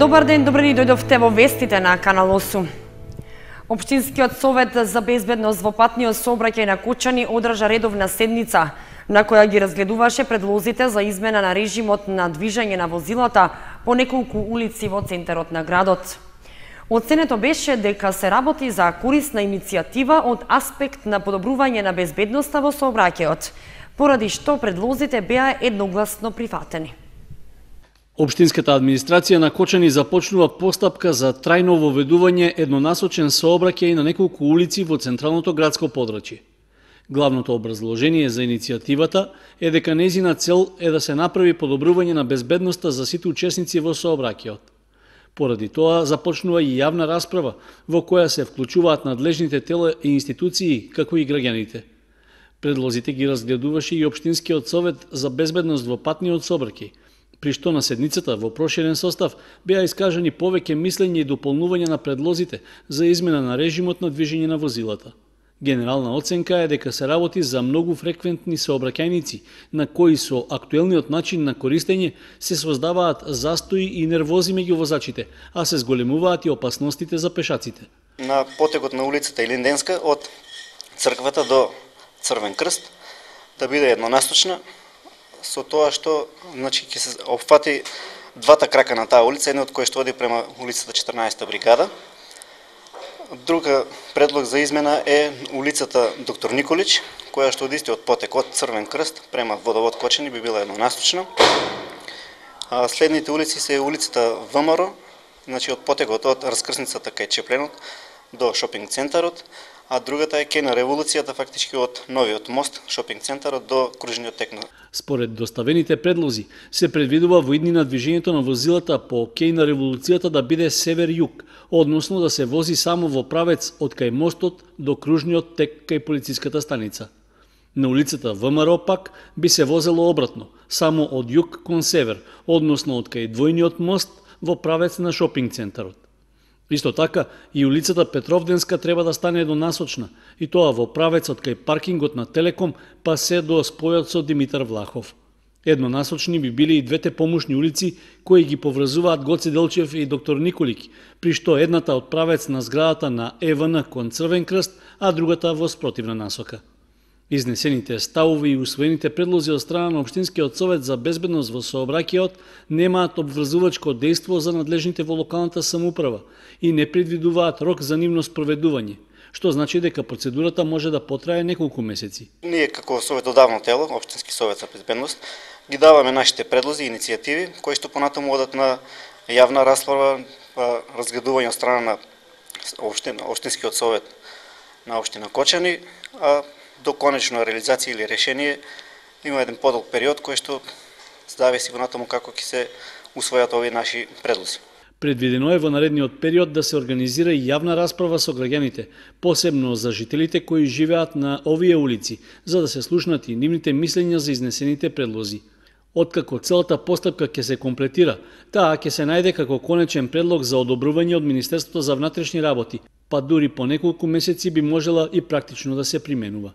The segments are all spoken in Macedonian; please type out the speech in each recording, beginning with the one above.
Добар ден, добре ни дојдовте во вестите на Канал 8. Општинскиот совет за безбедност во патниот сообраќај на Кочани одржа редовна седница, на која ги разгледуваше предлозите за измена на режимот на движење на возилата по неколку улици во центарот на градот. Оценето беше дека се работи за корисна иницијатива од аспект на подобрување на безбедноста во сообраќајот, поради што предлозите беа едногласно прифатени. Општинската администрација на Кочани започнува постапка за трајно воведување еднонасочен сообраќај на неколку улици во централното градско подрачје. Главното образложение за иницијативата е дека нејзина цел е да се направи подобрување на безбедноста за сите учесници во сообраќајот. Поради тоа започнува и јавна расправа во која се вклучуваат надлежните тела и институции, како и граѓаните. Предлозите ги разгледуваше и Општинскиот совет за безбедност во патниот сообраќај, при што на седницата во проширен состав беа искажани повеќе мислење и дополнување на предлозите за измена на режимот на движење на возилата. Генерална оценка е дека се работи за многу фреквентни сообраќајници, на кои со актуелниот начин на користење се создаваат застои и нервози меѓу возачите, а се зголемуваат и опасностите за пешаците. На потегот на улицата Илинденска од црквата до Црвен крст да биде еднонасочна, со тоа што ќе се опфати двата крака на таа улица, едно од кој што оди према улицата 14-та бригада. Друга предлог за измена е улицата Доктор Николич, која што оди од потек од Црвен крст према Водовод Кочани би била еднонасочна. Следните улици се улицата ВМРО, од потекот од раскрсницата кај Чепленот до шопинг центарот, а другата е кај на Револуцијата, фактички од новиот мост, шопинг центарот до кружниот тек. Според доставените предлози, се предвидува во иднина движењето на возилата по кај на Револуцијата да биде север-југ, односно да се вози само во правец од кај мостот до кружниот тек кај полициската станица. На улицата ВМРО пак би се возело обратно, само од југ кон север, односно од кај двојниот мост во правец на шопинг центарот. Исто така, и улицата Петровденска треба да стане еднонасочна, и тоа во правец од кај паркингот на Телеком па се до спојот со Димитар Влахов. Еднонасочни би били и двете помошни улици кои ги поврзуваат Гоце Делчев и Доктор Николики, при што едната од правец на зградата на ЕВН кон Црвен крст, а другата во спротивна насока. Изнесените ставови и усвоените предлози од страна на Општинскиот совет за безбедност во сообраќајот немаат обврзувачко дејство за надлежните во локалната самоуправа и не предвидуваат рок за нивно спроведување, што значи дека процедурата може да потрае неколку месеци. Ние како советодавно тело, Општински совет за безбедност, ги даваме нашите предлози и иницијативи, кои што понатаму одат на јавна расправа, разгледување од страна на Општинскиот совет на општина Кочани, а до конечна реализација или решение има еден подолг период кој што зависи во натаму како ќе се усвојат овие наши предлози. Предвидено е во наредниот период да се организира и јавна расправа со граѓаните, посебно за жителите кои живеат на овие улици, за да се слушнат и нивните мислења за изнесените предлози. Откако целата постапка ќе се комплетира, таа ќе се најде како конечен предлог за одобрување од Министерството за внатрешни работи, па дури по неколку месеци би можела и практично да се применува.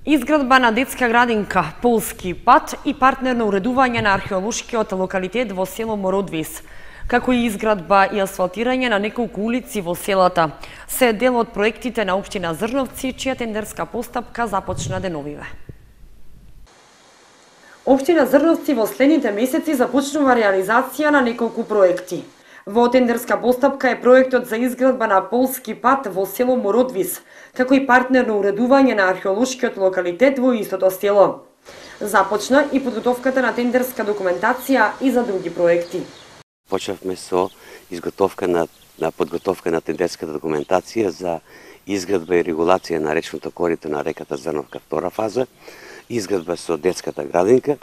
Изградба на детска градинка, полски пат и партнерно уредување на археолошкиот локалитет во село Мородвис, како и изградба и асфалтирање на неколку улици во селата, се дел од проектите на општина Зрновци, чија тендерска постапка започна деновиве. Општина Зрновци во следните месеци започнува реализација на неколку проекти. Во тендерска постапка е проектот за изградба на полски пат во село Мородвис, како и партнерно уредување на археолошкиот локалитет во истото село. Започна и подготовката на тендерска документација и за други проекти. Почнавме со изготовка на подготовка на тендерската документација за изградба и регулација на речното корито на реката Зрновка втора фаза, изградба со детската градинка,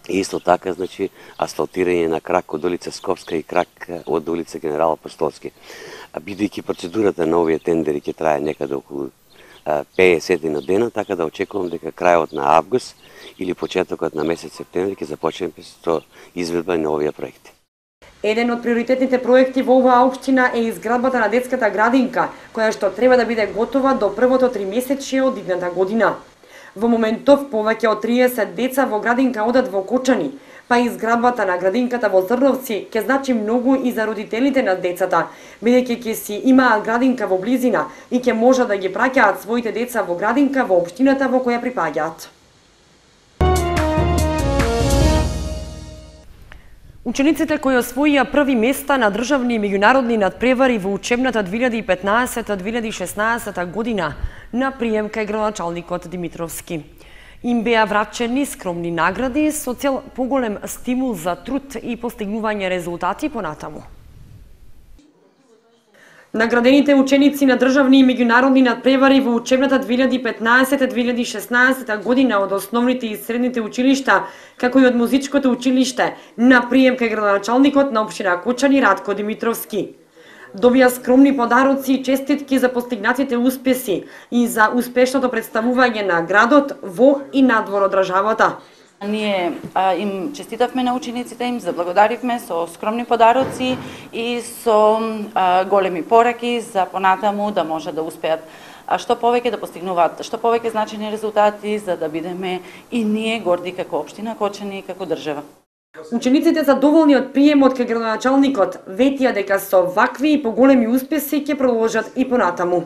и исто така, асфалтирање на крак од улица Скопска и крак од улица Генерал Апостолски. Бидејќи процедурата на овие тендери ќе трае некаде околу 50 дена, така да очекувам дека крајот на август или почетокот на месец септември ќе започнеме со изведба на овие проекти. Еден од приоритетните проекти во оваа општина е изградбата на детската градинка, која што треба да биде готова до првото 3-месечие од идната година. Во моментов повеќе од 30 деца во градинка одат во Кочани, Па изградбата на градинката во Зрновци ќе значи многу и за родителите на децата, бидејќи ќе си имаат градинка во близина и ќе можат да ги праќаат своите деца во градинка во општината во која припаѓаат. Учениците кои освоија први места на државни и меѓународни надпревари во учебната 2015-2016 година на прием кај градоначалникот Димитровски. Им беа врачени скромни награди со цел поголем стимул за труд и постигнување резултати понатаму. Наградените ученици на државни и меѓународни надпревари во учебната 2015-2016 година од основните и средните училишта, како и од музичкото училиште, на прием кај градоначалникот на општина Кочани Радко Димитровски. Добија скромни подароци и честитки за постигнатите успеси и за успешното представување на градот во и надвор од државата. Ние им честитавме на учениците, им заблагодаривме со скромни подароци и со големи пораки за понатаму да може да успеат што повеќе да постигнуваат, што повеќе значени резултати за да бидеме и ние горди како општина Кочани и како држава. Учениците задоволни од приемот кај градоначалникот ветија дека со вакви и поголеми успеси ќе продолжат и понатаму.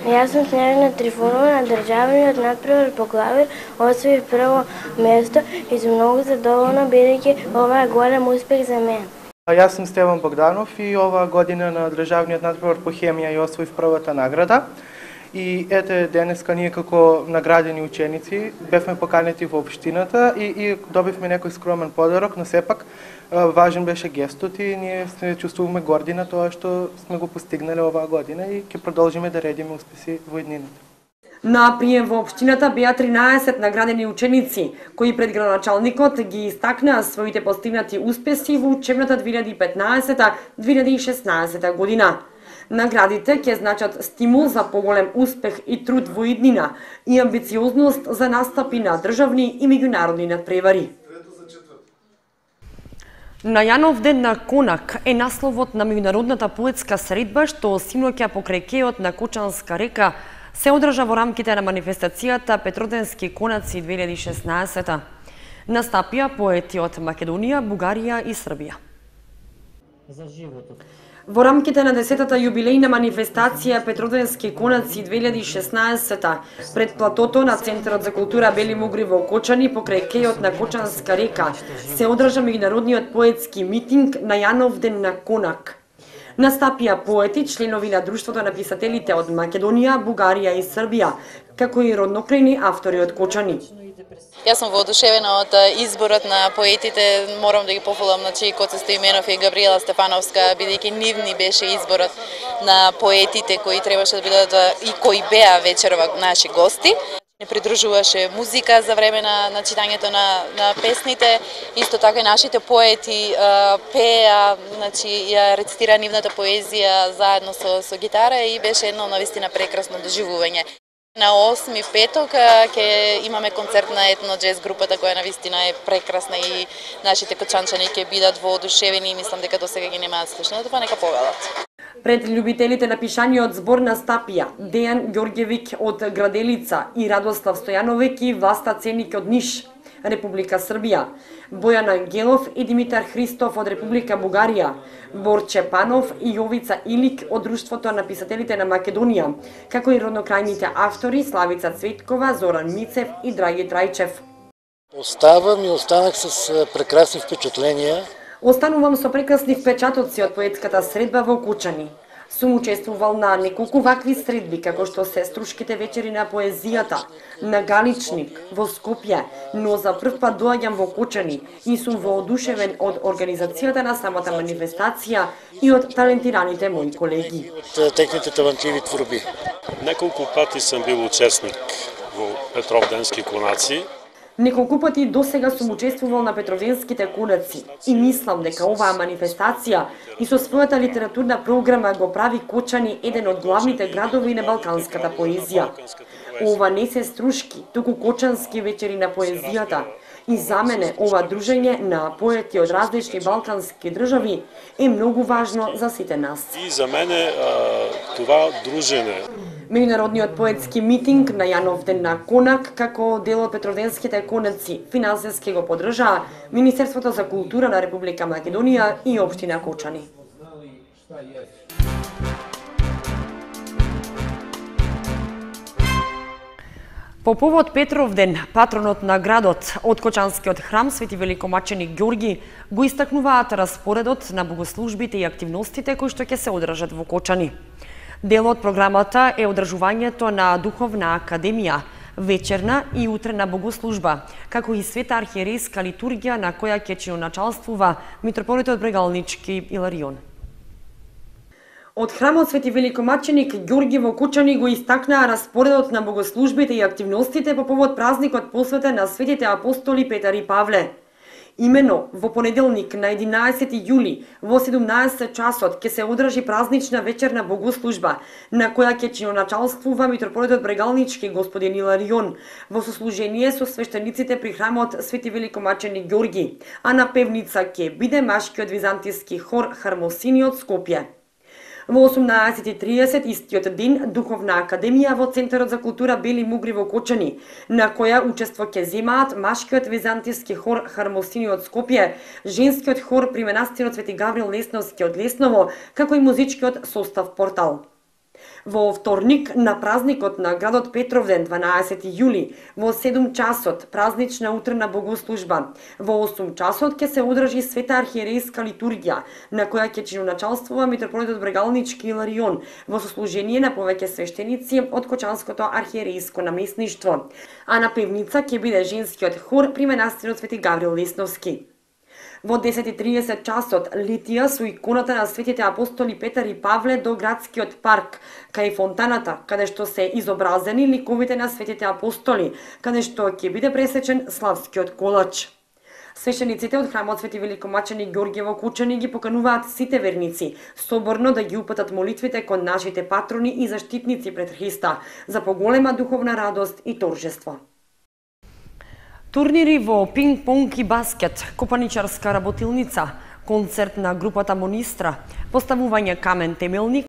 Јас сум Снежана Трифонова на државниот надпревар по клавир, освоив прво место и сум многу задоволна бидејќи ова е голем успех за мене. Јас сум Стеван Богданов и оваа година на државниот надпревар по хемија ја освоив првата награда. И ете денеска ние како наградени ученици бевме поканети во општината и добивме некој скромен подарок, но сепак важен беше гестот и ние се чувствуваме горди на тоа што сме го постигнале оваа година и ќе продолжиме да редиме успеси во иднината. На прием во општината беа 13 наградени ученици, кои пред градоначалникот ги истакнаа своите постигнати успеси во учебната 2015-2016 година. Наградите ќе значат стимул за поголем успех и труд во иднина и амбициозност за настапи на државни и меѓународни надпревари. На Јанов ден на Конак е насловот на меѓународната поетска средба што синоќа покрај кејот на Кочанска река се одржа во рамките на манифестацијата Петроденски конаци 2016. Настапија поети од Македонија, Бугарија и Србија. За животот. Во рамките на 10-та јубилејна манифестација Петроденски конаци 2016 пред платото на Центарот за култура Бели Мугри во Кочани покрај кејот на Кочанска река се одржа меѓународниот поетски митинг на Јанов ден на Конак. Настапија поети, членови на Друштвото на писателите од Македонија, Бугарија и Србија, како и роднокрајни автори од Кочани. Јас сум воодушевена од изборот на поетите, морам да ги пофалам на Коце Стоименов и Габриела Стефановска, бидејќи нивни беше изборот на поетите кои требаше да бидат и кои беа вечерова наши гости. Не придружуваше музика за време на читањето на песните, исто така и нашите поети пеа, ја рецитира нивната поезија заедно со гитара и беше едно навистина прекрасно доживување. На 8 петок ќе имаме концерт на етно джез групата која навистина е прекрасна и нашите кочанчани ќе бидат воодушевени и мислам дека досега ги немаат слушнато, па нека повелат. Пред љубителите на пишаниот збор настапија Дејан Ѓорѓевик од Граделица и Радослав Стојановек и Власта Ценик од Ниш, Република Србија, Бојан Ангелов и Димитар Христов од Република Бугарија, Борче Панов и Јовица Илик од Друштвото на писателите на Македонија, како и роднокрајните автори Славица Цветкова, Зоран Мицев и Драги Трајчев. Оставам и останах с прекрасни впечатления. Останувам со прекрасни впечатоци од поетската средба во Кочани. Сум учествувал на неколку вакви средби, како што се Струшките вечери на поезијата, на Галичник, во Скопје, но за прв пат доаѓам во Кочани и сум воодушевен од организацијата на самата манифестација и од талентираните мои колеги. Од техните талантливи творби. Неколку пати сум бил учесник во Петровденски конаци. Неколку пати досега сум учествувал на Петровденските конаци и мислам дека оваа манифестација и со својата литературна програма го прави Кочани еден од главните градови на балканската поезија. Ова не се Струшки, туку Кочански вечери на поезијата. И за мене ова дружење на поети од различни балкански држави е многу важно за сите нас. И за мене това дружење Меѓународниот поетски митинг на Јановден на Конак, како дел од Петровденските конаци, финансиски го поддржаа Министерството за култура на Република Македонија и општина Кочани. По повод Петровден, патронот на градот од Кочанскиот храм Свети Великомаченик Ѓорги го истакнуваат распоредот на богослужбите и активностите кои што ќе се одржат во Кочани. Дел од програмата е одржувањето на Духовна академија, вечерна и утрена богослужба, како и света архиерейска литургија на која ќе чиноначалствува митрополитот Брегалнички Иларион. Од храмот Свети Великомаченик Ѓорги во Кочани го истакнаа распоредот на богослужбите и активностите по повод празникот посветен на светите апостоли Петар и Павле. Имено во понеделник на 11 јули во 17 часот ќе се одржи празнична вечерна богослужба на која ќе чиноначалствува митрополитот Брегалнички господин Иларион во сослужение со свештениците при храмот Свети Великомаченик Ѓорги, а на певница ќе биде машкиот византиски хор Хармосини од Скопје. Во 18:30 истиот ден Духовна академија во Центарот за култура Бели Мугри во Кочани, на која учество ќе земаат машкиот византиски хор Хармосини од Скопје, женскиот хор при манастирот Свети Гаврил Лесновски од Лесново, како и музичкиот состав Портал. Во вторник на празникот на градот Петровден 12 јули во 7 часот празнична утрена богослужба. Во 8 часот ќе се одржи света архиерейска литургија на која ќе чиноначалствува митрополитот Брегалнички Иларион во сослужение на повеќе свештеници од Кочанското архиерейско наместништво, а на певница ќе биде женскиот хор при манастирот Свети Гаврил Лесновски. Во 10:30 часот литија со иконата на светите апостоли Петар и Павле до градскиот парк, кај фонтаната, каде што се изобразени ликовите на светите апостоли, каде што ќе биде пресечен славскиот колач. Свештениците од храмот Свети Великомаченик Ѓорги во Кочани ги покануваат сите верници соборно да ги упатат молитвите кон нашите патрони и заштитници пред Христа за поголема духовна радост и торжество. Турнири во пинг-понг и баскет, копаничарска работилница, концерт на групата Монистра, поставување камен темелник